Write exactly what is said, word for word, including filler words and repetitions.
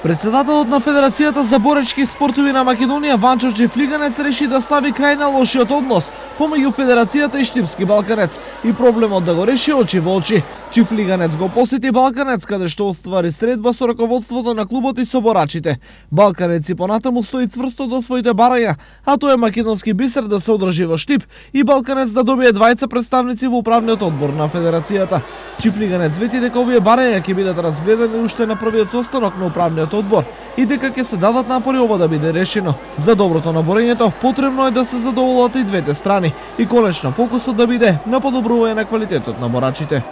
Председателот на Федерацијата за боречки спортови на Македонија Ванчо Чифлиганец реши да стави крај на лошиот однос помеѓу Федерацијата и Штипски Балканец и проблемот да го реши очи во очи. Чифлиганец го посети Балканец каде што оствари средба со раководството на клубот и со борачите. Балканец и понатаму стои цврсто до своите барања, а тоа е македонски бисер да се одржи во Штип и Балканец да добие двајца представници во управниот одбор на Федерацијата. Чифлиганец вети дека овие барања ќе бидат разгледани уште на првиот состанок на управниот одбор и дека ќе се дадат напори ова да биде решено. За доброто на борењето потребно е да се задоволат и двете страни и конечно фокусот да биде на подобрување на квалитетот на борачите.